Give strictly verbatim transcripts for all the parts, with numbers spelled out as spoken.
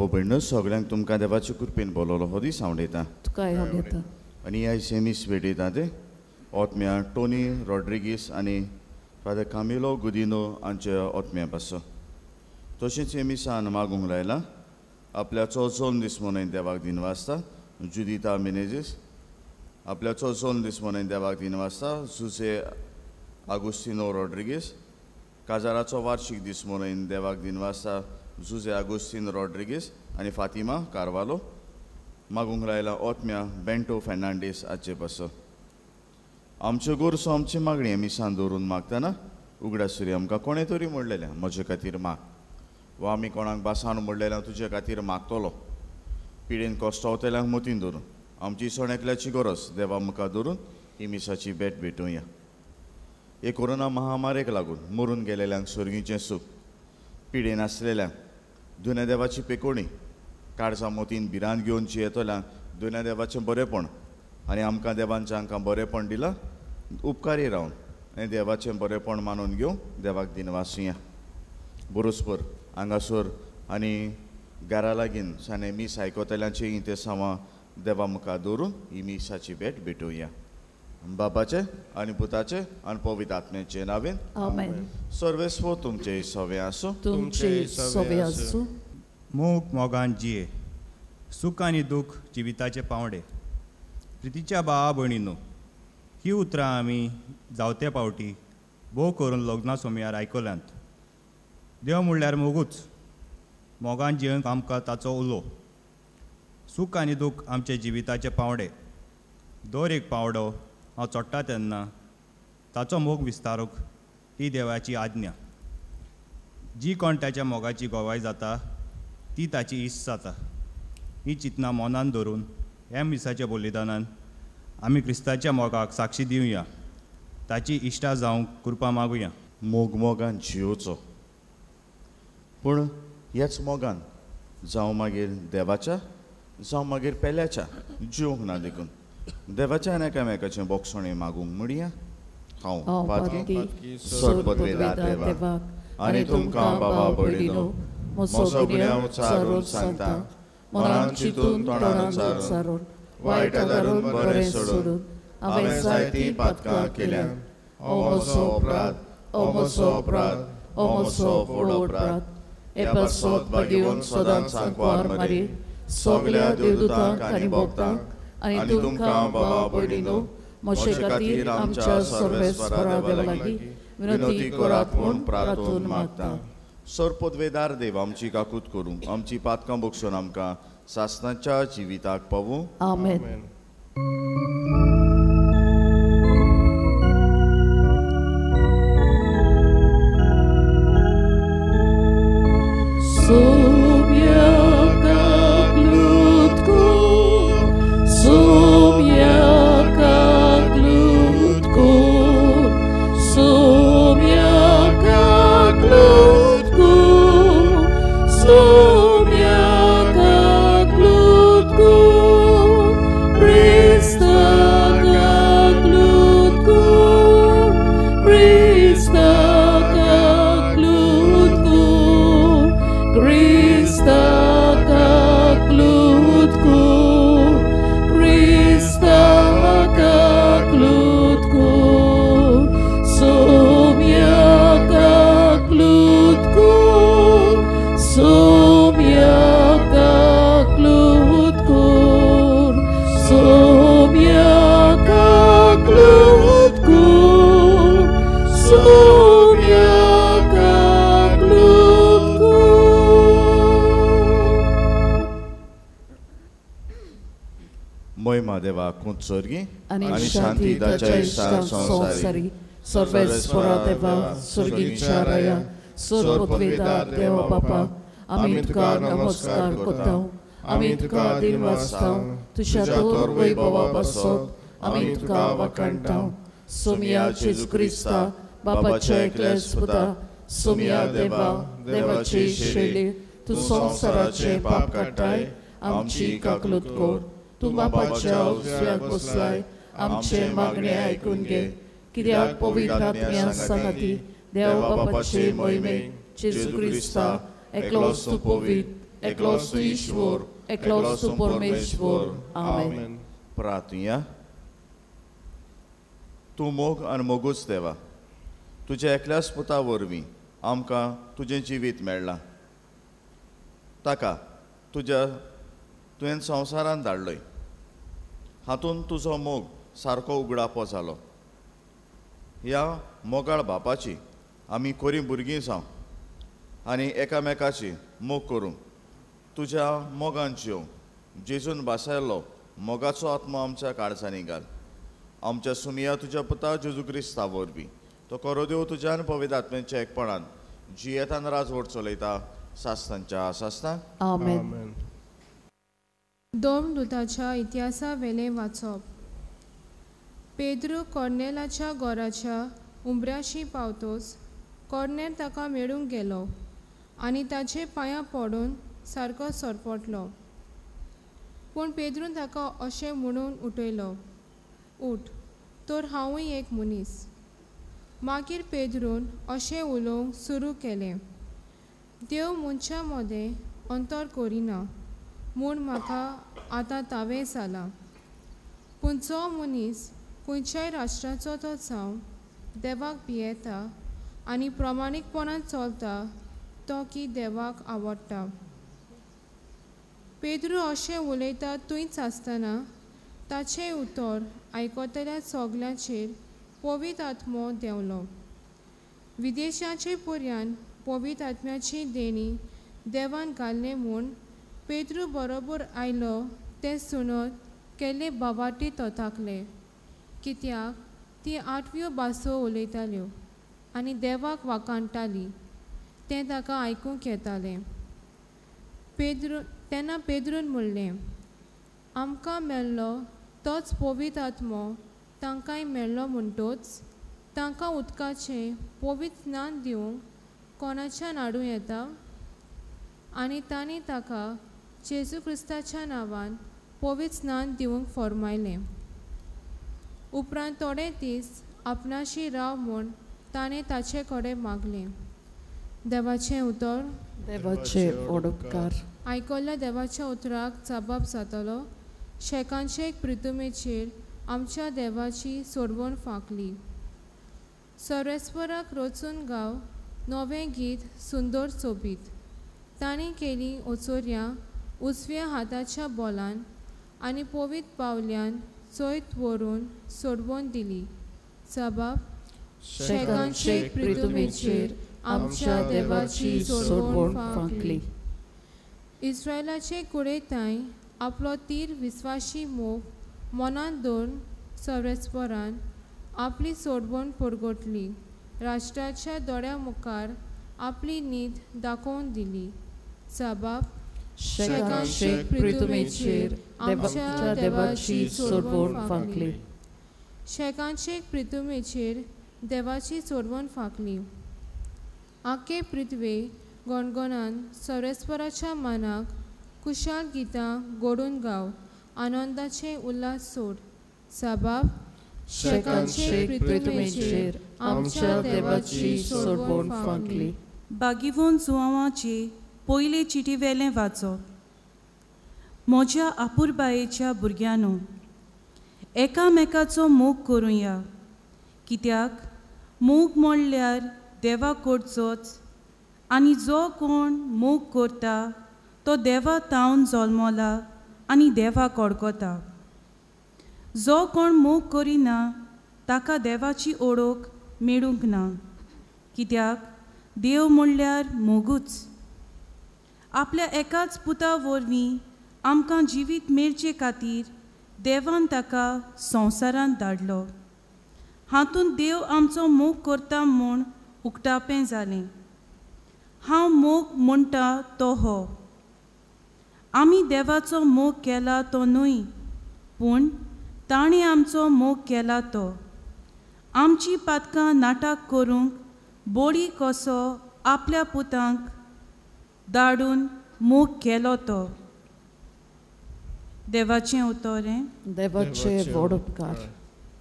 भाव भयणो सगळ्यांक तुमकां देवाचे कृपेन बोलवलो हो दीस हांव दिता तुकाय हांव दिता. आनी आयज हे मीस भेटयता ते ओत्म्या टोनी रॉड्रिगीस आनी फादर कामिलो गुदिनो हांच्या ओत्म्या पासून. तशेंच हे मिसान मागूंक लायला आपल्या चौचोन दीस मनयन देवाक दिन वाजता जुदिता मिनेजीस, आपल्या चौचोन दीस मनयन देवाक दिन वाजता जुजे आगुस्तिनो रॉड्रिगीस, काजाराचो वार्षिक दीस मनयन देवाक दिन वाजता जुजे आगुस्तीन रॉड्रिगीस आनी फातिमा कार्वालो. मागूंक लायला ओत्म्या बेंटो फेर्नांडीस हाचे पासून. आमच्यो गोरसो आमची मागणी मिसान दवरून मागतना उगडासुरी आमकां कोणें तरी म्हणलेलें म्हजे खातीर माग, वा आमी कोणाक बासान म्हणलेलें तुजे खातीर मागतलो. पिडेन कोस्टावतल्यांक मतीन धरून आमची सण एकल्याची गरज देवा मुखार धरून ही मिसाची भेट भेटुया. हे कोरोना महामारेक लागून मरून गेलेल्यांक सर्गीचें सूख, पिडेन आसलेल्यांक दुन्या देवाची पेकोणी, काळजा मोतीन भिरांत घेवन जियेतल्यांक दुन्या देवाचें बरेंपण आनी आमकां देवान जांकां बरेंपण दिलां उपकारी रावन आनी देवाचें बरेंपण मानून घेवन देवाक दिनवासुया. बरोसपर हांगासर आनी घरा लागीं साने मीस आयकतल्यांचें इंतेसांवां देवा मुखार दवरून ही मिसाची भेट भेटोवया. बापाचे आनी पुताचे आनी पवित्र आत्म्याचे नांवेन आमेन. सर्वेस्व तुमचे सवे आसूं. तुमचे सवे आसूं. मोग मोगान जिये, सूख आनी दूख जिविताचे पावंडे. प्रितीच्या भावा भयणीनो, ही उतरां आमी जावते पावटी भोव करून लग्ना सोमयार आयकल्यांत. देव म्हणल्यार मोगूच, मोगान जियेवंक आमकां ताचो उलो. सूख आनी दूख आमचे जिविताचे पावंडे. दर एक पावंडो हांव चडटा तेन्ना ताचो मोग विस्तारूंक ही देवाची आज्ञा. जी कोण ताच्या मोगाची गवाय जाता ती ताची इश्ट जाता. ही चिंतना मनान धरून ह्या मिसाच्या बलिदानान आमी क्रिस्ताच्या मोगाक साक्षी दिवया, ताची इश्टा जावंक कृपा मागुया. मोग मोगान जियोचो, पूण ह्याच मोगान जावं मागीर देवाच्या जावं मागीर पेल्याच्या जिवंक ना देखून देवाच्या आनी एकामेकाचें बोगसणें मागूंक म्हणया. हांव पातकी सरपदवेदार देवाक आनी तुमकां बाबा भयणीनो म्हजो गुन्यांव चारून सांगता, मनान चिंतून तोंडान उच्चारून वायट आदारून बरें सोडून हांवें जायतीं पातकां केल्यांत. हो म्हजो अपराध, हो म्हजो अपराध, हो म्हजो व्हड अपराध. हे पासत भाग्यवंत सदांच सांकवार मारी सगल्या देवदूतांक आनी भक्तांक आनी तुमकां बाबा भयणीनो म्हजे खातीर आमच्या सर्वेस्परा देवा लागीं विनंती करात म्हूण प्रार्थून मागता. सरपदवेदार देव आमची काकूत करूं, आमची पातकां बगसून आमकां सासणाच्या जिविताक पावूं. आमेन. स्वर्गी आनी शांती ताच्या इश्टांक संवसारी सर्वेस्परा देवा स्वर्गीच्या राया सर्वपदवेदार देवा बापा, आमी तुका नमस्कार करता, आमी तुका दिनवासता, तुज्या थोर वैभवा पासत आमी तुका वाखाणटा. सोमया जेजू क्रिस्ता बापाच्या एकल्याच पुता, सोमया देवा देवाची शैली, तूं संवसाराचें पाप काडटाय आमची काकलूत कर. तूं बापाच्या उजव्याक बसलाय आमचे मागणे आयकून घे, कित्याक पवित्र आत्म्या सांगाती देव बापाचे मोहिमेक जेजू क्रिस्ता एकलोच तूं पवित्र, एकलोच तूं ईश्वर, एकलोच तूं परमेश्वर. आमेन. प्रार्थुया. तूं मोग आनी मोगूच देवा, तुज्या एकल्याच पुता वरवीं आमकां तुजें जिवीत मेळ्ळां. ताका तुज्या तुवें संवसारांत धाडलय, हातूंत तुजो मोग सारको उगडापो जालो. ह्या मोगाळ बापाची आमी कोरी भुरगीं जावं आनी एकामेकाची मोग करूंक तुज्या मोगान जिवंक जेजून भासायल्लो मोगाचो आत्मो आमच्या काळजांनी घाल. आमच्या सुमिया तुज्या पुता जेजू क्रिस्ता वरवीं तो करो देव तुज्यान पवित्र आत्म्याच्या एकपणान जियेतान राजवट चलयता सासतांच्या सासतां. आमेन. दोन दुताच्या इतिहासा वेलें वाचप. पेद्रू कॉर्नेलाच्या घराच्या उंबऱ्याशी पावतोच कॉर्नेल ताका मेळूंक गेलो आनी ताचे पांयां पडून सारको सरपटलो. पूण पेद्रून ताका अशें म्हणून उठयलो, उठ, तर हांवूय एक मनीस. मागीर पेद्रून अशें उलोवंक सुरू केलें, देव मनशां मदें अंतर करिना म्हूण म्हाका आतां तावें जालां. पूण जो मनीस खंयच्याय राष्ट्राचो तो जावं देवाक भियेता आनी प्रमाणीकपणान चलता तो की देवाक आवडटा. पेद्रू अशें उलयता थंयच आसतना ताचें उतर आयकतल्या सगल्यांचेर पवित्र आत्मो देंवलो. विदेशाचे पर्यान पवित्र आत्म्याची देणी देवान घाल्लें म्हूण पेद्रू बरोबर आयलो तें सुणत केल्ले बावाटी तोताकले, कित्याक ती आठव्यो भासो उलयताल्यो आनी देवाक वाखाणटाली तें ताका आयकूंक येतालें. पेद्रू तेन्ना पेद्रून म्हणलें, आमकां मेल्लो तोच पवित्र आत्मो तांकांय मेळ्ळो म्हणटोच तांकां उदकाचें पवित्र स्नान दिवंक कोणाच्यान हाडूं येता? आनी तांणी ताका जेजू क्रिस्ताच्या नांवान पवित्र स्नान दिवंक फॉर्मायलें. उपरांत थोडे दीस आपणाशी राव म्हूण ताणें ताचे कडेन मागलें. देवाचें उतर. देवाचे उपकार. आयकल्ल्या देवाच्या उतराक जबाब जातलो. शेकांचे एक प्रितुमेचेर आमच्या देवाची सोडवण फांकली. सर्वेस्पराक रचून गाव नवें गीत सुंदर सोबीत. तांणी केली ओचोर्या उजव्या हाताच्या बोलान आनी पवित्र पावल्यान चोयत व्हरून सोडवून दिली. जबाब. शेकांचे प्रितुमेचेर आमच्या देवाची सोडवण फांकली. इस्रायलाचे कुळेतांय आपलो तीर विस्वाशी मोग मनांत दवरून सर्वेस्परान आपली सोडवण परगटली. राष्ट्राच्या दोळ्या मुखार आपली नीत दाखोवन दिली. जबाब. शेकांचे प्रितुमेचेर आमच्या देवाची सोडवण फांकली. शेकांचे प्रितुमेचेर देवाची सोडवण फांकली. आखे पृथ्वे गणगणान सर्वेस्पराच्या मानाक कुशाल गितां गोडून गाव आनंदाचे उल्हास सोड. जबाब. शेकांचे प्रितुमेचेर आमच्या देवाची सोडवण फांकली. बागिवोन जुवांवाचे पयले चिटी वेलें वाचप. म्हज्या आपुरबायेच्या भुरग्यांनो, एकामेकाचो मोग करुया, कित्याक मोग म्हणल्यार देवा कडचोच आनी जो कोण मोग करता तो देवा तावन जल्मला आनी देवा कडकता. जो कोण मोग करिना ताका देवाची ओळख मेळूंक ना, कित्याक देव म्हणल्यार मोगूच. आपल्या एकाच पुता वरवीं आमकां जिवीत मेळचे खातीर देवान ताका संवसारांत धाडलो. हातूंत देव आमचो मोग करता म्हूण उक्तापें जालें. हांव मोग म्हणटा तो हो, आमी देवाचो मोग केला तो न्हय, पूण ताणें आमचो मोग केला तो. आमची पातकां नाटक करूंक बोडी कसो आपल्या पुतांक धाडून मोग केलो तो. देवाचें उतर. देवाचे व्हड उपकार.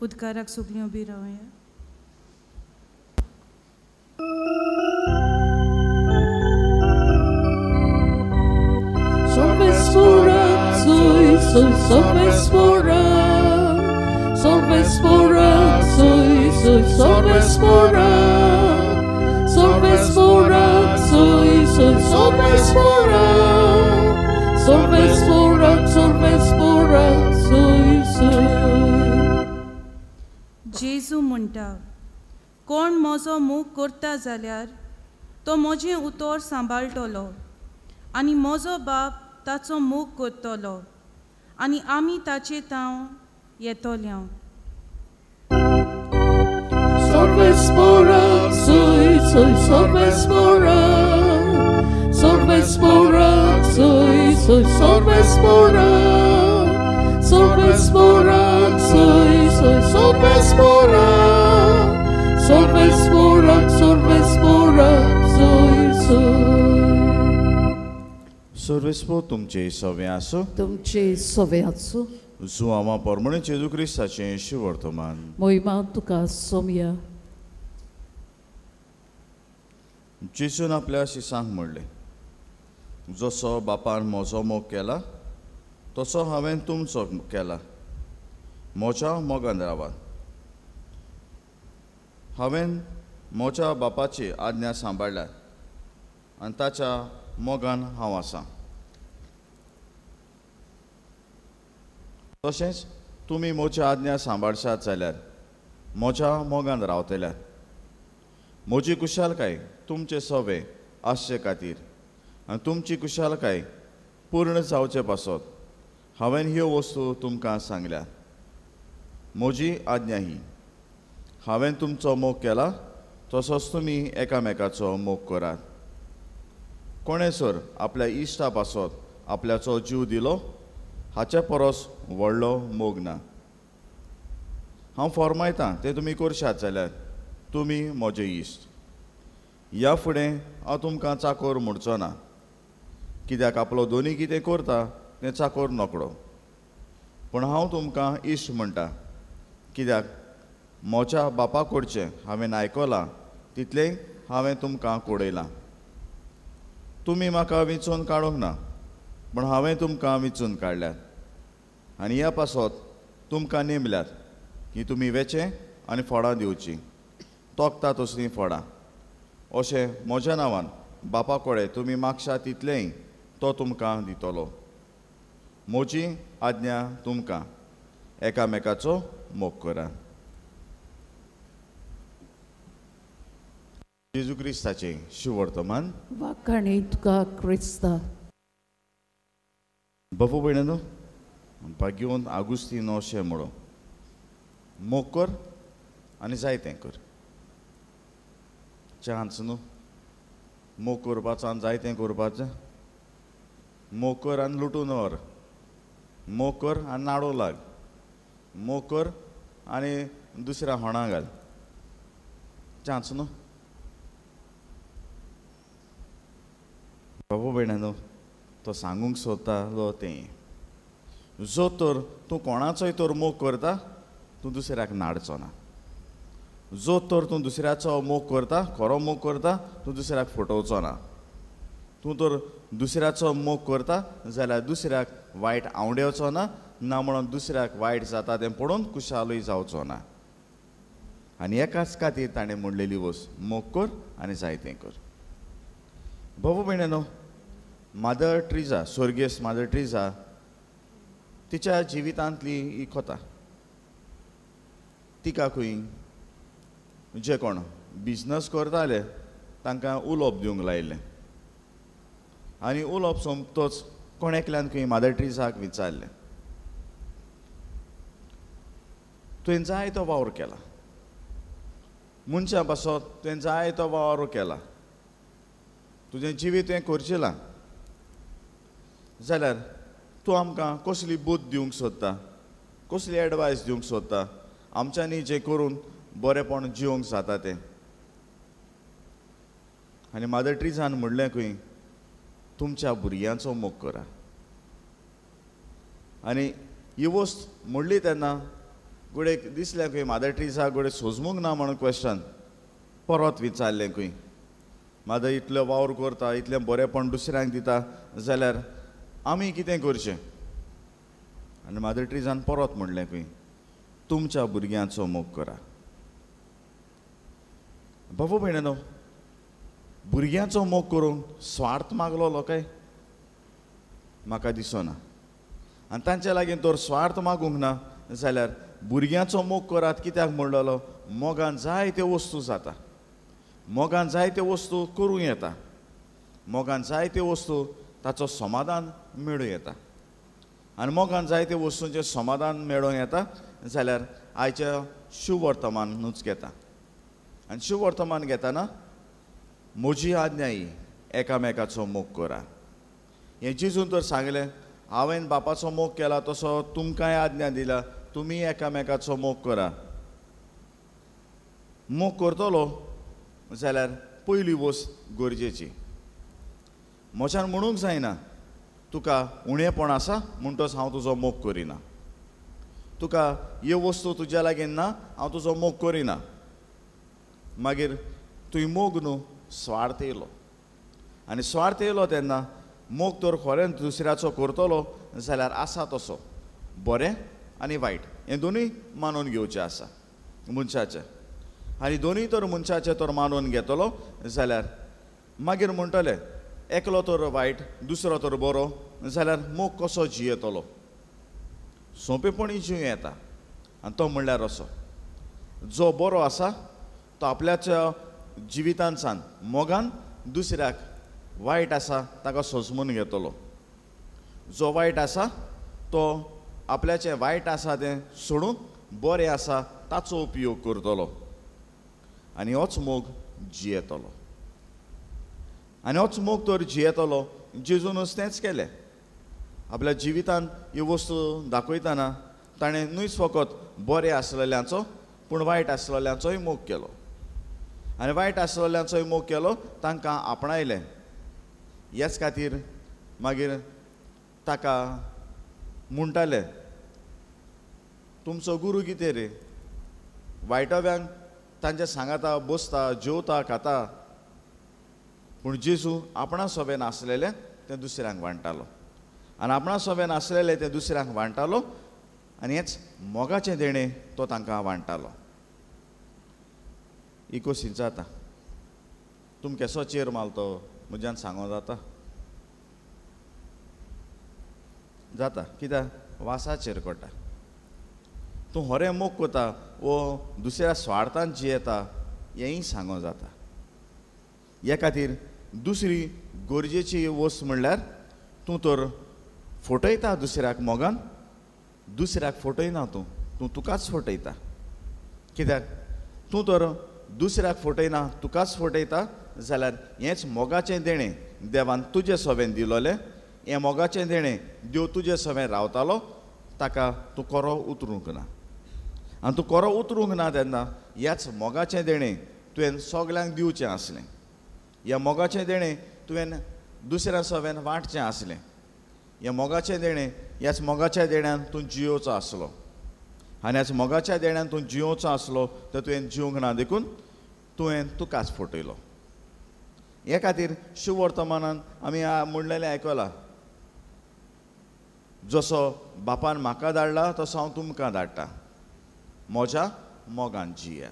उदकाराक सगळीं उबी रावया. soy, sorvespora, sorvespora, soy, soy, sorvespora, sorvespora, soy, soy, sorvespora, sorvespora, sorvespora, soy, soy. जेजू म्हणटा, कोण म्हजो मोग करता जाल्यार तो म्हजें उतर सांबाळटलो आनी म्हजो बाप ताचो मोग करतलो आनी आमी ताचे तांव येतले. Sorvespora, soy, soy, sorvespora, sorvespora, soy, soy, sorvespora, sorvespora, soy, soy, sorvespora, sorvespora, sorvespora, soy, soy. सर्वेस्पो तुमचे सवे आसो, तुमचे सवे आसो. जुआंवा परमणे जेजू क्रिस्ताचें शिवर्तमान. मोहिमा तुका सोमया. जेजून आपल्या शिसांक म्हणलें, जसो बापान म्हजो मोग केला तसो हांवें तुमचो केला, म्हज्या मोगान रावात. हांवें म्हज्या बापाची आज्ञा सांबाळ्ळ्या आनी ताच्या मोगान हांव आसा. तशेंच तुमी म्हज्या आज्ञा सांबाळशात जाल्यार म्हज्या मोगान रावतल्यात. म्हजी कुशालकाय तुमचे सवे आसचे खातीर आनी तुमची कुशालकाय पूर्ण जावचे पासत हांवें ह्यो वस्तू तुमकां सांगल्यात. म्हजी आज्ञा ही, हांवें तुमचो मोग केला तसोच तुमी एकामेकाचो मोग करात. कोणें सर आपल्या इश्टा पासत आपल्याचो जीव दिलो हाचे परस व्हडलो मोग ना. हांव फॉर्मायतां तें तुमी करशात जाल्यार तुमी म्हजे इश्ट. ह्या फुडें हांव तुमकां चाकोर म्हणचो ना, कित्याक आपलो दोनी कितें करता तें चाकोर नकळो. पूण हांव तुमकां इश्ट म्हणटा, कित्याक म्हज्या बापा कडचें हांवें आयकलां तितलें हांवें तुमकां कळयलां. तुमी म्हाका विंचून काडूंक ना, पूण हांवें तुमकां विंचून काडल्यात आनी ह्या पासत तुमकां नेमल्यात की तुमी वेचें आनी फळां दिवचीं, तोखता तसलीं फळां. अशें म्हज्या नांवान बापा कडेन तुमी मागशात तितलेंय तो तुमकां दितलो. म्हजी आज्ञा तुमकां, एकामेकाचो मोग करात. जेजू क्रिस्ताचें शिवर्तमान. वाखाणी तुका क्रिस्ता. बापू भयणांनो, भाग्यवंत आगुस्तीन अशें म्हणो, मोग कर आनी जाय तें कर. चान्स न्हू मोग करपाचो आनी जाय तें करपाचें. मोग कर आनी लुटून व्हर, मोग कर आनी नाडो लाग, मोग कर आनी दुसऱ्या होणा घाल. चान्स न्हू. बाबू भयणांनो, तो सांगूंक सोदतालो तें, जो तर तूं कोणाचोय तर मोग करता तूं दुसऱ्याक नाडचो ना. जो तर तूं दुसऱ्याचो मोग करता, खरो मोग करता, तूं दुसऱ्याक फटोवचो ना. तूं तर दुसऱ्याचो मोग करता जाल्यार दुसऱ्याक वायट आंवडेवचो ना, ना म्हणून दुसऱ्याक वायट जाता तें पळोवन कुशालूय जावचो ना. आनी एकाच खातीर ताणें म्हणलेली वस्त, मोग कर आनी जाय तें कर. बाबू भयणांनो, मादर ट्रिजा, स्वर्गेस्त मादर ट्रिजा, तिच्या जिवितांतली ही कथा. तिका खंय जे कोण बिजनस करताले तांकां उलोवप दिवंक लायिल्लें आनी उलोवप सोंपतोच कोण एकल्यान खंय मादर ट्रिजाक विचारलें, तुवें जाय तो वावर केला, मनशां पासत तुवें जाय तो वावर केला, तुजें जिवीत तुवें करचेलां, जाल्यार तूं आमकां कसली बुद्द दिवंक सोदता, कसली एडवायस दिवंक सोदता, आमच्यांनी जें करून बरेंपण जिवंक जाता तें. आनी मादर ट्रिजान म्हणलें खंय, तुमच्या भुरग्यांचो मोग करा. आनी ही वस्त म्हणली तेन्ना घडये दिसलें खंय मादर ट्रिजा घडये सोजमूंक ना म्हणून क्वेश्चन परत विचारलें खंय, मादर इतलो वावर करता, इतलें बरेंपण दुसऱ्यांक दिता, जाल्यार आमी कितें करचें? आनी मादर ट्रिजान परत म्हणलें खंय, तुमच्या भुरग्यांचो मोग करा. बाबू भयणीनो, भुरग्यांचो मोग करूंक स्वार्थ मागलो काय? म्हाका दिसना. आनी तांचे लागीं तर स्वार्थ मागूंक ना जाल्यार भुरग्यांचो मोग करात कित्याक म्हणलेलो? मोगान जायत्यो वस्तू जाता, मोगान जायत्यो वस्तू करूं येता, मोगान जायत्यो वस्तू ताचो समाधान मेळूं येता. आनी मोगान जायत्यो वस्तूंचें समाधान मेळूं येता जाल्यार आयच्या शुवर्तमानूच घेता. आनी शुवर्तमान घेतना म्हजी आज्ञा ही, एकामेकाचो मोग करा. हें जेजून तर सांगलें, हांवें बापाचो मोग केला तसो तुमकांय आज्ञा दिला, तुमी एकामेकाचो मोग करा. मोग करतलो जाल्यार पयली वस्त गरजेची. म्हज्यान म्हणूंक जायना तुका उणेपण आसा म्हणटच हांव तुजो मोग करिना, तुका ह्यो वस्तू तुज्या लागीं ना हांव तुजो मोग करिना. मागीर तुवें मोग न्हू स्वार्थ येयलो, आनी स्वार्थ येयलो तेन्ना मोग तर खरेंच दुसऱ्याचो करतलो जाल्यार आसा तसो बरें आनी वायट हें दोनूय मानून घेवचें आसा मनशाचें. आनी दोनूय तर मनशाचें तर मानून घेतलो जाल्यार मागीर म्हणटले एकलो तर वायट दुसरो तर बरो जाल्यार मोग कसो जियेतलो? सोंपेपणी जिवं येता. आनी तो म्हणल्यार असो, जो बरो आसा तो आपल्याच्या जिवितांतसान मोगान दुसऱ्याक वायट आसा ताका सोजमून घेतलो, जो वायट आसा तो आपल्याचें वायट आसा तें सोडून बरें आसा ताचो उपयोग करतलो आनी होच मोग जियेतलो. आनी होच मोग तर जियेतलो. जेजूनच तेंच केलें. आपल्या जिवितांत ह्यो वस्तू दाखयतना ताणें न्हूच फकत बरें आसलेल्यांचो पूण वायट आसलेल्यांचोय मोग केलो. आनी वायट आसलेल्यांचोय मोग केलो, तांकां आपणायलें. ह्याच खातीर मागीर ताका म्हणटाले, तुमचो गुरू कितें रे, वायटव्यांक तांच्या सांगाता बसता, जेवता, खाता, पूण जेजू आपणा सोबेन आसलेलें तें दुसऱ्यांक वांट्टालो. आनी आपणा सोबेन आसलेलें तें दुसऱ्यांक वांट्टालो आनी हेंच मोगाचें देणें तो तांकां वांट्टालो. इकोसीन जाता तुम केसो चेर मालतो म्हज्यान सांगो जाता जाता कित्याक वासाचेर कोटा. तूं होरें मोग कोता वो दुसऱ्या स्वार्थान जियेता हेंय सांगो जाता. हे खातीर दुसरी गरजेची वस्त म्हणल्यार तूं तर फटयता दुसऱ्याक मोगान, दुसऱ्याक फटयना तूं, तूं तुकाच फटयता. कित्याक तूं तर दुसऱ्याक फटयना तुकाच फटयता जाल्यार हेंच मोगाचें देणें देवान तुजे सोबेन दिलोलें, हें मोगाचें देणें देव तुजे सोबेन रावतालो ताका तूं कोरो उतरूंक ना. आनी तूं कोरो उतरूंक ना तेन्ना ह्याच मोगाचें देणें तुवें सगल्यांक दिवचें आसलें, ह्या मोगाचें देणें तुवें दुसऱ्या सोबेन वांटचें आसलें, ह्या मोगाचें देणें ह्याच मोगाच्या देण्यान तूं जियोवचो आसलो. आनी ह्याच मोगाच्या देण्यान तूं जियोवचो आसलो तर तुवें जिवंक ना देखून तुवें तुकाच फटयलो. हे खातीर शुवर्तमानान आमी म्हणलेलें आयकलां, जसो बापान म्हाका धाडला तसो हांव तुमकां धाडटा, म्हज्या मोगान जिया.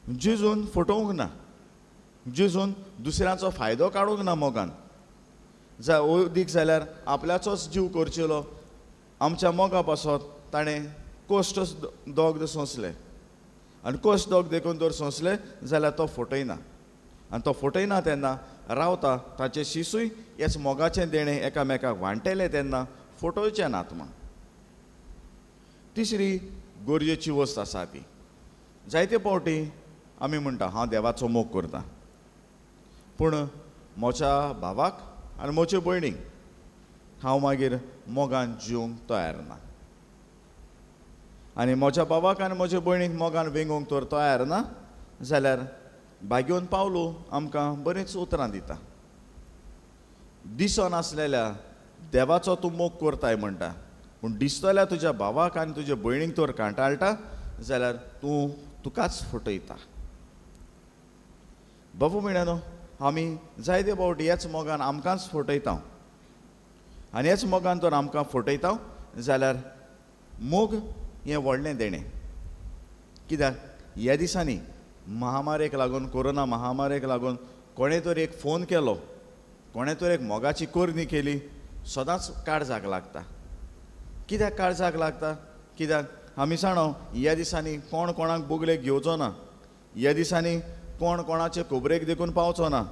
जेजून फटोवंक ना, जेजून दुसऱ्यांचो फायदो काडूंक ना मोगान. जा अदीक जाल्यार आपल्याचोच जीव करचेलो आमच्या मोगा पासत ताणें कश्ट दोग सोंसले. आनी कश्ट दोग देखून जर सोंसले जाल्यार तो फटयना. आनी तो फटयना तेन्ना रावता ताचे शिसूय हेच मोगाचें देणें एकामेकाक वांटेलें तेन्ना फटोवचें नात म्हण. तिसरी गरजेची वस्त आसा ती, जायते फावटी आमी म्हणटा हांव देवाचो मोग करता, पूण म्हज्या भावाक आनी म्हजे भयणीक हांव मागीर मोगान जिवंक तयार ना. आनी म्हज्या भावाक आनी म्हजे भयणीक मोगान वेंगोवंक तर तयार ना जाल्यार भाग्योन पावलो आमकां बरींच उतरां दिता. दिसनासलेल्या देवाचो तूं मोग करताय म्हणटा, पूण दिसतल्या तुज्या भावाक आनी तुज्या भयणीक तर कांटाळटा जाल्यार तूं तुकाच फटयता. बाबू भयणानो, आमी जायते फावटी ह्याच मोगान आमकांच फटयता. आनी ह्याच मोगान तर आमकां फटयता जाल्यार मोग हें व्हडलें देणें. कित्याक ह्या दिसांनी महामारेक लागून, कोरोना महामारेक लागून कोणें तर एक फोन केलो, कोणें तर एक मोगाची करणी केली, सदांच काळजाक लागता. कित्याक काळजाक लागता? कित्याक आमी जाणो ह्या दिसांनी कोण कोणाक बोगलेक घेवचो ना, ह्या दिसांनी कोण कोणाचे खबरेक देखून पावचो ना.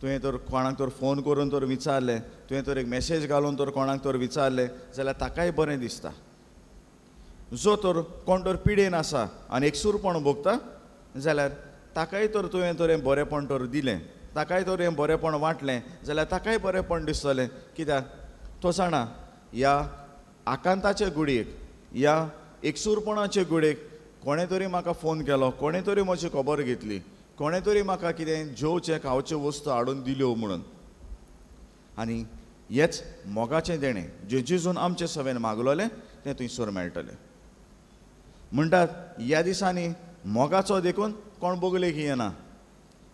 तुवें तर कोणाक तर फोन करून तर विचारलें, तुवें तर एक मॅसेज घालून तर कोणाक तर विचारलें जाल्यार ताकाय बरें दिसता. जो तर कोण तर पिडेन आसा आनी एकसूरपण भोगता जाल्यार ताकाय तर तुवें तर हें बरेंपण तर दिलें, ताकाय तर हें बरेंपण वांटलें जाल्यार ताकाय बरेंपण दिसतलें. कित्याक तो जाणा ह्या आकांताचे गुडयेक, ह्या एकसूरपणाचे गुडयेक कोणें तरी म्हाका फोन केलो, कोणें तरी म्हजी खबर घेतली, कोणें तरी म्हाका कितें जेवचें खावच्यो वस्तू हाडून दिल्यो म्हणून. आनी हेच मोगाचें देणें जें जेजून आमचे सवेन मागलोलें तें थंयसर मेळटलें. म्हणटात ह्या दिसांनी मोगाचो देखून कोण बोगलेक येना,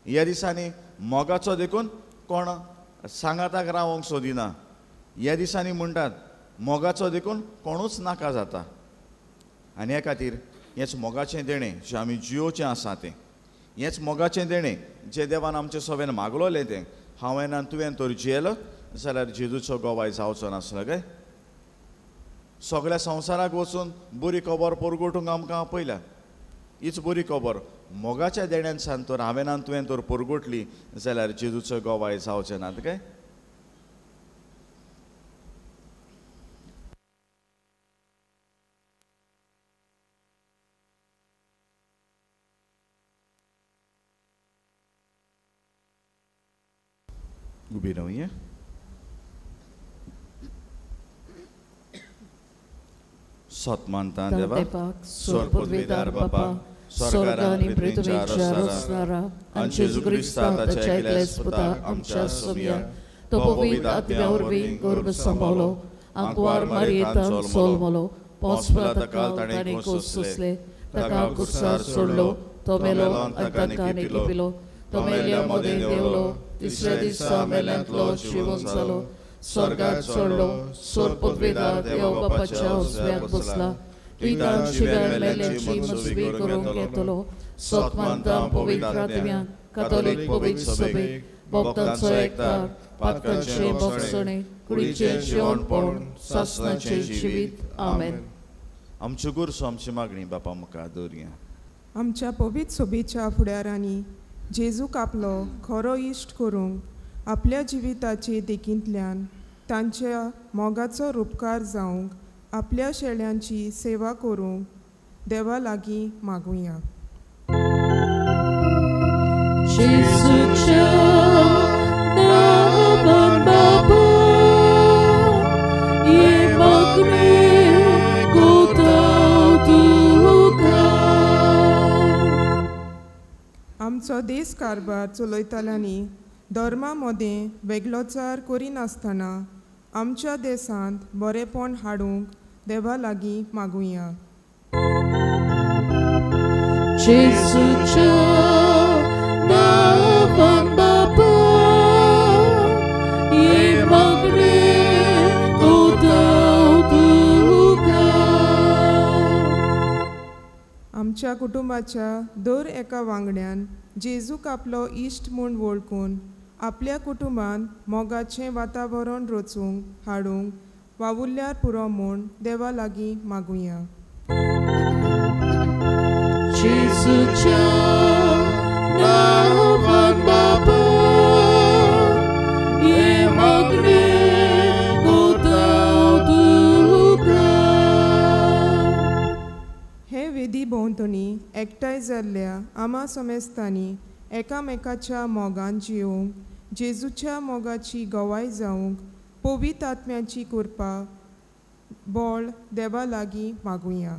ह्या दिसांनी मोगाचो देखून कोण सांगाताक रावंक सोदिना, ह्या दिसांनी म्हणटात मोगाचो देखून कोणूच नाका जाता. आनी ह्या खातीर हेंच मोगाचें देणें जें आमी जियोचें आसा तें, हेंच मोगाचें देणें जें देवान आमचे सवेन मागलोलें तें हांवें आनी तुवें तर जियेलो जाल्यार जेजूचो गोवाय जावचो नासलो काय? सगळ्या संवसाराक वचून बरी खबर परगटूंक आमकां आपयल्या. हीच बरी खबर मोगाच्या देण्यान सान तर हांवें आनी तुवें तर परगटली जाल्यार जेजूचो गोवाय जावचें नात काय? उबी रावया. सतमानता देवा, स्वर्गपदवीदार बापा, स्वर्गार आनी पृथ्वीच्या रचणारा, आनी जेजू क्रिस्ताच्या एकल्याच पुता आमच्या सोमया, तो पवित्र आत्म्या वरवीं गर्भ सांबाळलो, आंकवार मारयेंतान जल्मलो, पोंचपला ताका ताणें खोस सोंसले, ताका कुर्सार सोडलो, तो मेलो आनी ताका निकिपिलो, तो मेल्या मदें देंवलो, तिसऱ्या दिसा मेल्यांतलो जिवन जालो, स्वर्गार चडलो, स्वर्गपदवीदार देव बापाच्या उजव्याक बसला, पितान शिव्यान मेल्यांची मजबी करूंक येतलो, सतमानता पवित्र आत्म्यान, कातोलीक पवित्र सभेक, भक्तांचो एकतार, पातकांचें भोगसणें, कुडीचें जिवनपण, सासणाचें जिवीत. आमेन. आमच्यो गुरसो आमची मागणी बापा मुखार दवरया. आमच्या पवित्र सभेच्या फुडारांनी जेजूक आपलो खरो इश्ट करूंक आपल्या जिविताचे देखींतल्यान तांच्या मोगाचो रुपकार जावंक आपल्या शेळ्यांची सेवा करूंक देवा लागीं मागुया. जेजूच्या नांवान बाबा, हे मागणें करता तुका. आमचो देश कारभार चलयतल्यांनी धर्मा मदें वेगळोचार करिनासतना आमच्या देशांत बरेंपण हाडूंक देवा लागीं मागुया. जेजूच्या नांवान बाबा, हे मागणें करता तुका. आमच्या कुटुंबाच्या दर एका वांगड्यान जेजूक आपलो इश्ट म्हूण वळखून आपल्या कुटुंबान मोगाचें वातावरण रचूंक हाडूंक वावुरल्यार पुरो म्हूण देवा लागीं मागुया. जेजूच्या नांवान बाबा, हे मागणें करता तुका. हे वेदी भोंवतणी एकठांय जाल्ल्या आमा समेस्तांनी एकामेकाच्या मोगान जियोवंक, जेजूच्या मोगाची गवाय जावंक पवित्र आत्म्याची कृपा बळ देवा लागीं मागुया.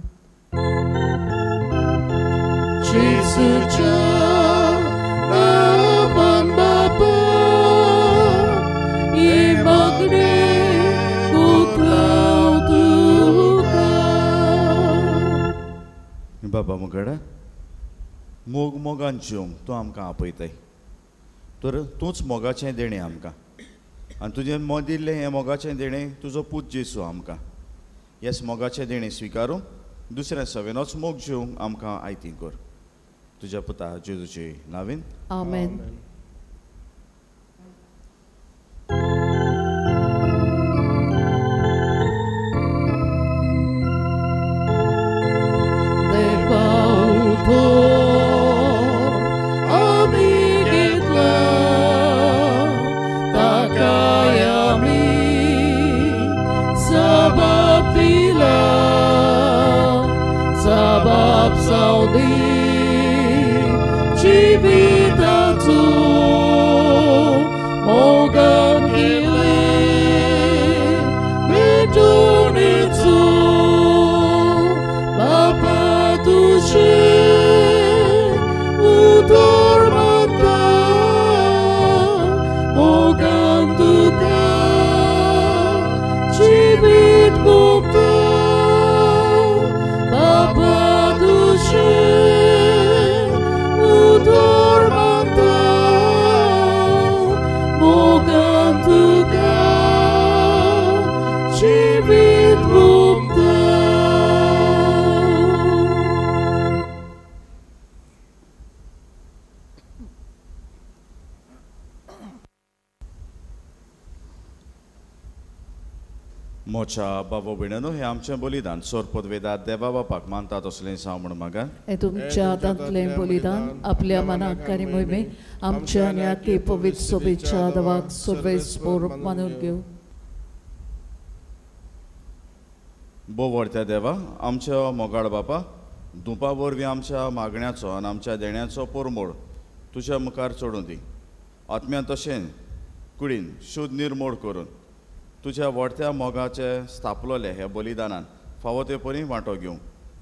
जेजूच्या नांवान बाबा, हे मागणें करता तुका. बाबा मुखार मोग मोगान जिवंक तूं आमकां आपयताय, तर तूंच मोगाचें देणें आमकां, आनी तुजें दिल्लें हें मोगाचें देणें तुजो पूत जेजू आमकां. येस मोगाचें देणें स्विकारूं दुसऱ्या सवेनोच मोग जेवंक आमकां आयती कर. तुज्या पुता जेजूचे नांवान आमेन. मोच्या बाबो भयणांनो, हें आमचें बलिदान सोरपत वेदात देवा बापाक मानता तसलें जावं म्हूण मागा. हें तुमच्या हातांतलें बलिदान आपल्या मनाक आनी मोहिमे आमच्या आनी आखे पवित्र सोबेच्या देवाक सर्वेस्पोर मानून घेवं. भोव व्हडत्या देवा, आमच्या मोगाळ बापा, धुपा वरवीं आमच्या मागण्याचो आनी आमच्या देण्याचो पोरमोड तुज्या मुखार चडूं दी. आत्म्यान तशें कुडीन शुद्ध निर्मोड करून तुज्या व्हडत्या मोगाचे स्थापलोले ह्या बलिदानान फावो ते परी वांटो घेवंक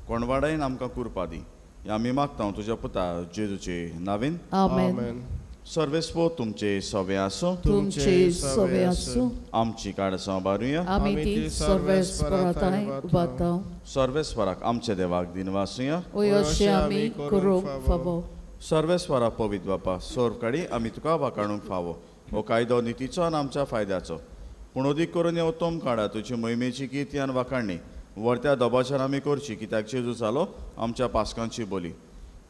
कोणवाडायन आमकां कुरपा दी. ह्या आमी मागता तुज्या पुता जेजूचे नांवान आमेन. सर्वेस्पो तुमचे सवे आसूं, तुमचे सवे आसूं. आमची काडसां बारुया, आमी ती सर्वेस्पराताय उबाता. सर्वेस्पराक आमच्या देवाक दिनवासुया, अशें आमी करूंक फावो. सर्वेस्परा पवित्र बापा, सोर काडी आमी तुका वाकाणूंक फावो. हो कायदो नितीचो आनी आमच्या फायद्याचो, पूण अदीक करून हे उत्तम काडा तुजी मोहिमेची किर्ती आनी वाखाणणी व्हरत्या दबाच्यान आमी करची, कित्याक जेजू जालो आमच्या पास्कांची बोली.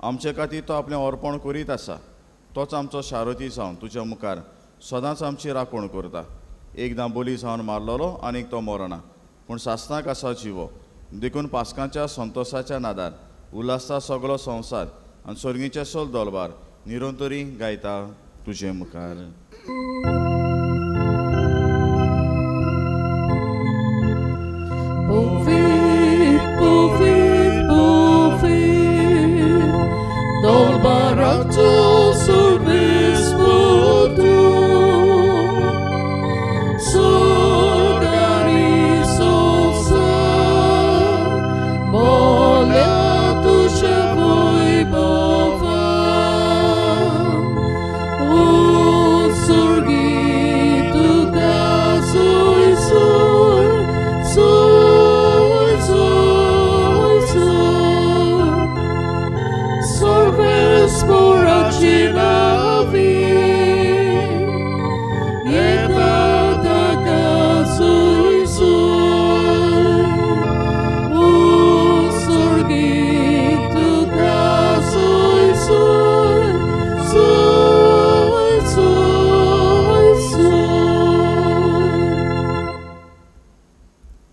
आमचे खातीर तो आपलें अर्पण करीत आसा, तोच आमचो शारती जावन तुज्या मुखार सदांच आमची राखण करता. एकदां बोली जावन मारलेलो आनीक तो मरना, पूण सासणाक आसा जिवो. देखून पास्कांच्या संतोसाच्या नादार उल्हासता सगलो संवसार आनी सर्गीचे सोल दोलबार निरंतरी गायता तुजे मुखार.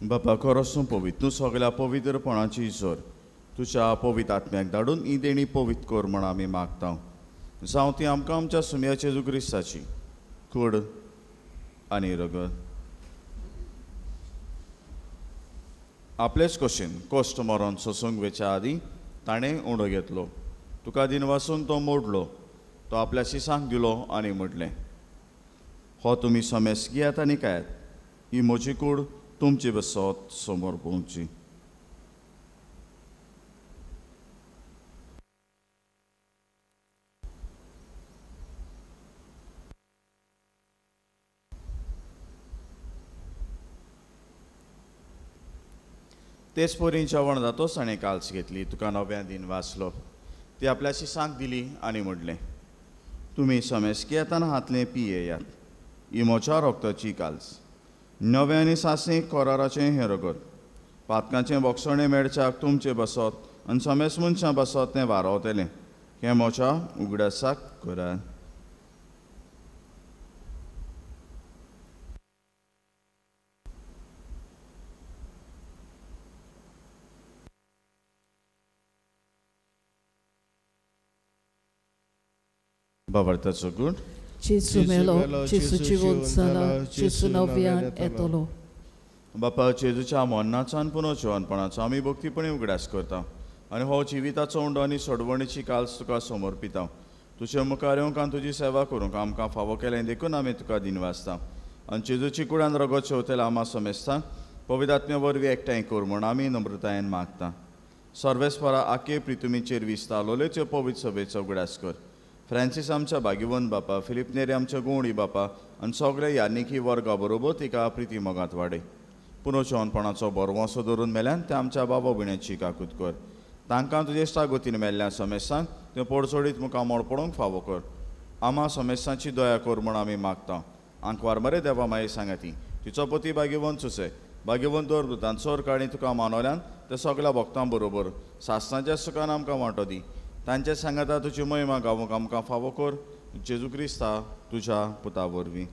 बापा खरोसून पवित्र तूं सगळ्या पवित्रपणाची जोर तुज्या पवित्र आत्म्याक धाडून ही देणी पवित्र कर म्हण आमी मागता. जावं ती आमकां आमच्या सुम्या जेजू क्रिस्ताची कूड आनी रगत. आपलेच कशेन कश्ट मरोन सोसूंक वेच्या आदीं ताणें उंडो घेतलो, तुका दिनवासून तो मोडलो, तो आपल्या शिसांक दिलो आनी म्हटलें, हो तुमी समेस घेयात आनी खायात, ही म्हजी कूड तुमची बसत समोर पळोवची. तेच परी जेवण जातोच ताणें काल्स घेतली, तुका नव्या दिन वाचलो, ती आपल्या शिसांक दिली आनी म्हटलें, तुमी समेस घेयात आनी हातलें पियेयात, ही म्हज्या रोगताची काल्स, नव्या आनी सासणी कराराचें हें रगत, पातकांचें बोगसणें मेळच्याक तुमचें बसत आनी समेस मनशां बसत तें वारवतलें. हें म्हज्या उगडासाक करात. बाबार्थाचो गूण. जेजू मेलो, जेजू जिवंत जाला, जेजू नव्यान येतलो. बापा, जेजूच्या मरणाचो आनी पुनर्जिवनपणाचो आमी भक्तीपणी उगडास करता आनी हो जिविताचो उंडो आनी सोडवणीची काल्स तुका समर्पिता. तुजे मुखार येवंक आनी तुजी सेवा करूंक आमकां फावो केलें देखून आमी तुका दिनवासता. आनी जेजूची कुडान रगत शेवतेल्या आमा समेस्ता पवित्र आत्म्या वरवीं एकठांय कर म्हूण आमी नम्रतायेन मागता. सर्वेस्परा आखे प्रितुमीचेर विस्तारलोल्यो त्यो पवित्र सभेचो उगडास कर. फ्रांसीस आमच्या भाग्यवंत बापा, फिलीप नेरी आमच्या गुवणी बापा आनी सगळे यानिकी वर्गा बरोबर तिका प्रिती मोगांत वाडय. पुनर्जिवनपणाचो बरवंसो धरून मेल्यान ते आमच्या बाबा भयण्याची काकूत कर. तांकां तुजे इश्टागतीन मेल्ल्या समेस्तांक तें पोडसोडीत मुखार मोड पडोवंक फावो कर. आमा समेस्तांची दया कर म्हूण आमी मागता. आंकवार मरे देवा माई सांगाती तिचो पती भाग्यवंत सुसे भाग्यवंत दवर दुतान चोर काणी तुका मानवल्यान ते सगळ्या भक्तां बरोबर सासणाच्या सुखान आमकां वांटो दी. तांचे सांगाता तुजी महिमा गावूंक आमकां फावो कर. जेजू क्रिस्ता तुज्या पुता वरवीं.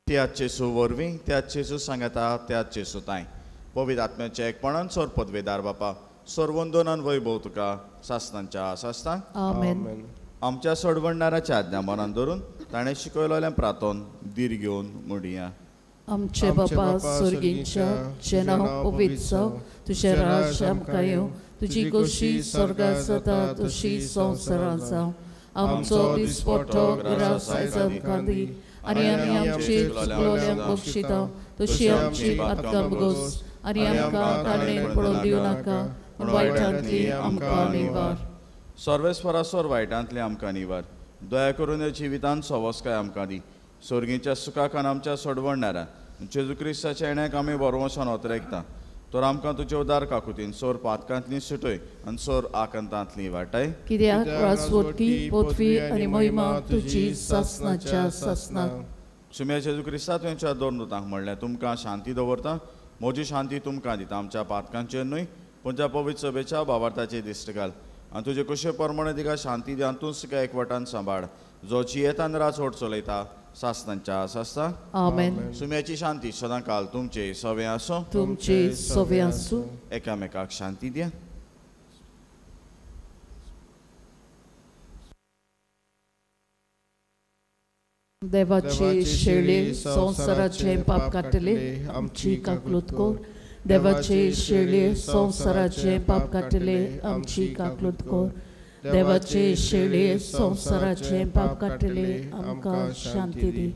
त्याच जेजू वरवीं, त्याच जेजू सांगाता, त्याच जेजू तांय पवित्र आत्म्याच्या एकपणान सोर पदवेदार बापा सर्वंदोनान वैभव तुका सासणांच्या सासणां. आमेन. आमच्या सोडवणदाराच्या आज्ञा मनान धरून ताणें शिकयलेलें प्रातोन धीर घेवन म्हणया. आमचे बापा स्वर्गींच्या, तुजें नांव पवित्र जावं, तुजें राज्य आमकां येवं, तुजी खोशी स्वर्गांत जाता तशी संवसारांत जावं. आमचो दिसपट्टो ग्रास आयज आमकां दी आनी आमी आमचे चुकलोल्यांक बक्षिता तशी आमची पातकां भोगोस आनी आमकां ताणें पडोवन दिवं नाका, पूण वायटांतली आमकां निवार. सर्वेस्परा सोर वायटांतली आमकां निवार. दया करून ह्या जिवितांत सवसकाय आमकां दी. स्वर्गीच्या सुखाक आनी आमच्या सोडवणदारा जेजू क्रिस्ताच्या येण्याक आमी बरवसान ओतरेकता. तर आमकां तुजे उदार काकुतीन सोर पातकांतली सुटय आनी सोर आकांतांतली वाटाय. कित्याक राजवटकी पदवी आनी महिमा तुजी सासणाच्या सासणाक. सुम्या जेजू क्रिस्ता तुमच्या दोन दुतांक म्हणलें, तुमकां शांती दवरता, म्हजी शांती तुमकां दिता. आमच्या पातकांचेर न्हय पूण त्या पवित्र सभेच्या भावार्थाचे दिश्ट घाल आनी तुजे कशे प्रमाणे तिका शांती दी आनी तूंच तिका एकवटान सांबाळ, जो जियेतान राजवट चलयता सासणांच्या सासणाक. आमेन. सुम्याची शांती सदांकाल तुमचे सवे आसूं. तुमचे सवे आसूं. एकामेकाक शांती द्या. देवाचे शेळी संवसाराचे पाप काडटले आमची काकलूत कर. देवाचे शेळी संवसाराचे पाप काडटले आमची काकलूत कर. देवाचे शेळी संवसाराचे पाप काडटले आमकां शांती दी.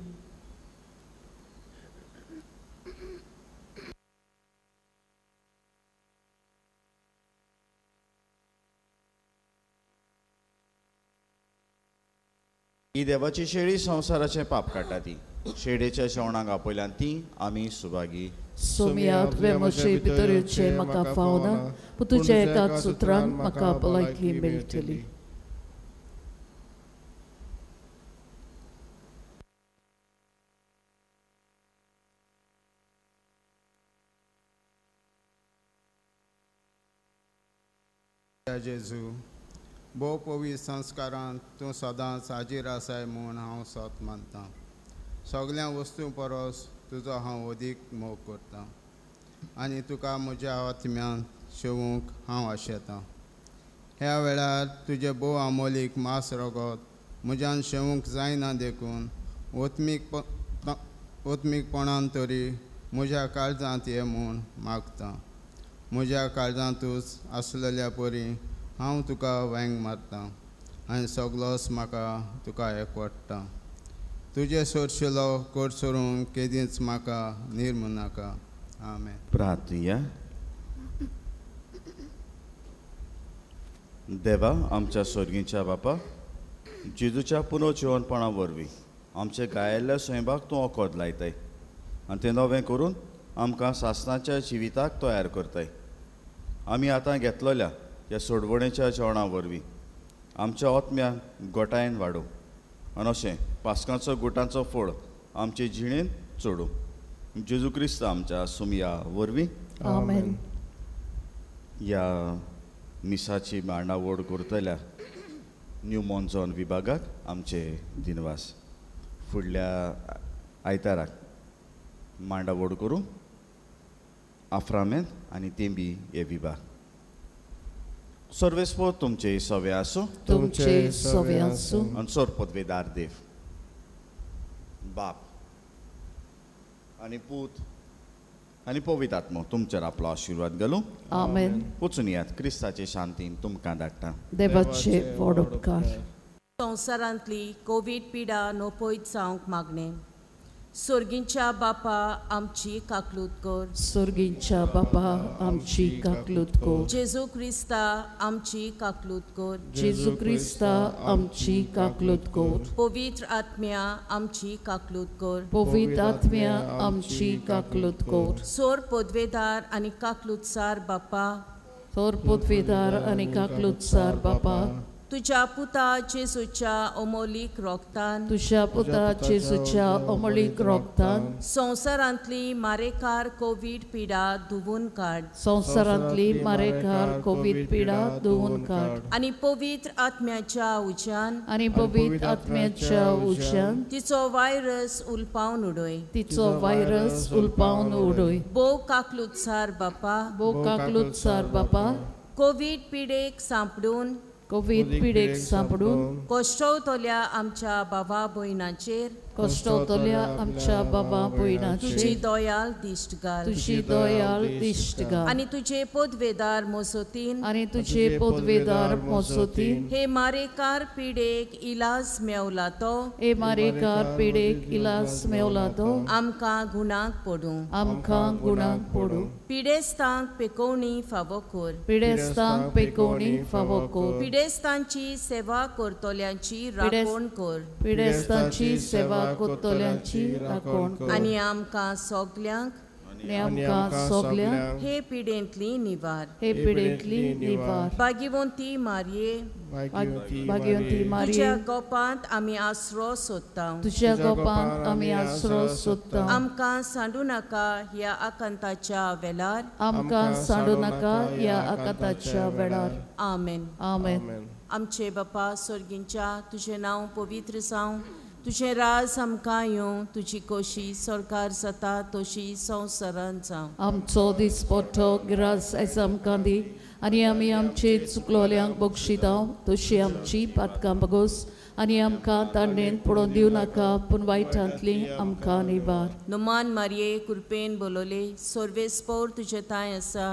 ही देवाची शेळी संवसाराचें पाप काडटा ती शेळयेच्या जेवणाक आपयल्यान ती आमी सुभागी. सोमया, तुवें म्हजे भितर येवचें म्हाका फावना, पूण तुज्या एकाच उतरान म्हाका भलायकी मेळटली. जेजू, भोव पवित्र संस्कारांत तूं सदांच हाजीर आसाय म्हूण हांव सत मानतां. सगळ्या वस्तूं परस तुजो हांव अदीक मोग करतां आनी तुका म्हज्या आत्म्यान शेवूंक हांव आशेतां. ह्या वेळार तुजें भोव आमोलीक मांस रगत म्हज्यान शेवूंक जायना देखून ओत्मीक ओत्मीकपणान तरी म्हज्या काळजांत ये म्हूण मागतां. म्हज्या काळजांतूच आसलेल्या परी हांव तुका वेंग मारतां आनी सगलोच म्हाका तुका एकवटता. तुजे सोरशिलो कोट सोरूंक केदींच म्हाका निर्मू नाका. आमेन. प्रार्थया. देवा आमच्या स्वर्गीच्या बापा, जेजूच्या पुनर्जिवनपणा वरवीं आमच्या गायिल्ल्या स्वयंपाक तूं ओखद लायताय आनी तें नवें करून आमकां सासणाच्या जिविताक तयार करताय. आमी आतां घेतलेल्या ह्या सोडवणेच्या जेवणा वरवीं आमच्या आत्म्याक गोटायेन वाडोवं आनी अशें पास्कांचो गुटांचो फोड आमचे जिणेंत चडूं. जेजू क्रिस्त आमच्या सुमया वरवीं. आमेन. ह्या मिसाची मांडावळ करतल्या न्यू मॉन्झॉन विभागाक आमचे दिनवास. फुडल्या आयताराक मांडावळ करूं आफ्रामेंत आनी तेंबी हे विभाग. सर्वेस्पोर तुमचे सवे आसूं, तुमचे सवे आसूं. आनी सोर पदवेदार देव बाप आनी पूत आनी पवित्र आत्मो तुमचेर आपलो आशिर्वाद घालूं. आमेन. वचून यात, क्रिस्ताचे शांतीन तुमकां धाडटा. देवाचे व्हड उपकार. संवसारांतली कोवीड पिडा नोपयत जावंक मागणें. सोर्गींच्या बापा आमची काकलूत कर. सोर्गींच्या बापा आमची काकलूत कर. जेजू क्रिस्ता आमची काकलूत कर. जेजू क्रिस्ता आमची काकलूत कर. पवित्र आत्म्या आमची काकलूत कर. पवित्र आत्म्या आमची काकलूत कर. सोर पदवेदार आनी काकलूतसार बापा, सोर पदवेदार आनी काकलूतसार बापा, तुझ्या पुता जेजूच्या अमोलीक रोगतान, तुझ्या पुता जेजूच्या अमोलीक रोगतान संवसारांतली मारेकार कोवीड पिडा धुवून काड. संवसारांतली मारेकार कोवीड पिडा धुवून काड. आनी पवित्र आत्म्याच्या उज्यान, आनी पवित्र आत्म्याच्या उज्यान तिचो व्हायरस उलपावन उडय, तिचो व्हायरस उलपावन उडय. भोव काकलुतसार बापा, भोव काकलुतसार बापा, कोवीड पिडेक सांपडून, कोवीड पिडेक सांपडून कश्टवतल्या आमच्या बाबा भयणाचेर, कश्टवतल्या आमच्या बाबा भयणाचेर तुजी दयाल दिश्ट घाल, तुजी दयाल दिश्ट घाल. आनी तुजे पदवेदार मोसोतीन, आनी तुजे पदवेदार मोसोतीन हे मारेकार पिडेक इलाज मेवला तो, हे मारेकार पिडेक इलाज मेवला तो आमकां गुणाक पडूं, आमकां गुणाक पडूं. पिडेस्तांक पेकोवणी फावो कर, पिडेस्तांक पेकोवणी फावो कर. पिडेस्तांची सेवा करतल्यांची राखण कर, पिडेस्तांची सेवा करतल्यांची राखण कर. आनी आमकां सगल्यांक, आनी आमकां सगल्यांक हे पिडेंतली निवार, हे पिडेंतली निवार. भाग्यवंती मारये, भाग्यवंती मारये, तुज्या गोपांत आमी आसरो सोदता, तुज्या गोपांत आमी आसरो सोदता. आमकां सांडू नाका ह्या आकांताच्या वेळार, आमकां सांडू नाका ह्या आकांताच्या वेळार. आमेन. आमेन. आमचे बापा सोर्गींच्या, तुजें नांव पवित्र जावं, तुजें राज आमकां येवं, तुजी कोशी सरकार जाता तशी संवसारांत जावं. आमचो दिसपट्टो ग्रास आयज आमकां दी, आनी आमी आमचे चुकलोल्यांक बक्षितां तशी आमची पातकां बगोस, आनी आमकां तांडेन पडोवन दिवं नाका, पूण वायटांतली आमकां निवार. नुमान मारये कृपेन बोलवले, सर्वेस्पोर तुजें तांय आसा,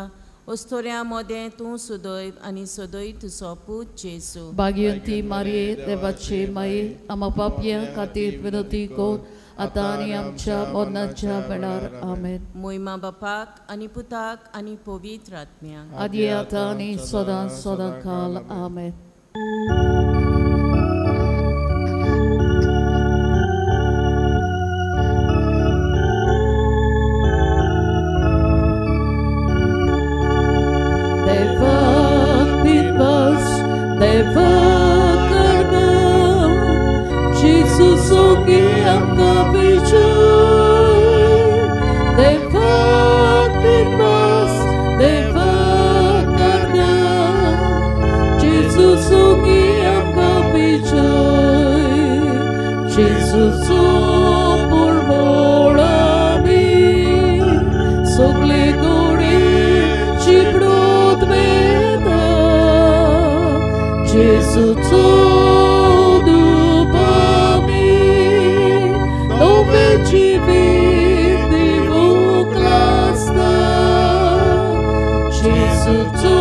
ओस्तोऱ्या मोदें तूं सुदैव आनी सदैव तुजो पूत जेजू. भाग्यवंती मारये देवाचे माये, आमा पापयां खातीर विनोती कर आतां आनी आमच्या मरणाच्या वेळार. आमेन. मोहिमा बापाक आनी पुताक आनी पवित्र आत्म्याक, आदी आतां आनी सदां सदां काल. आमेन. Jesus.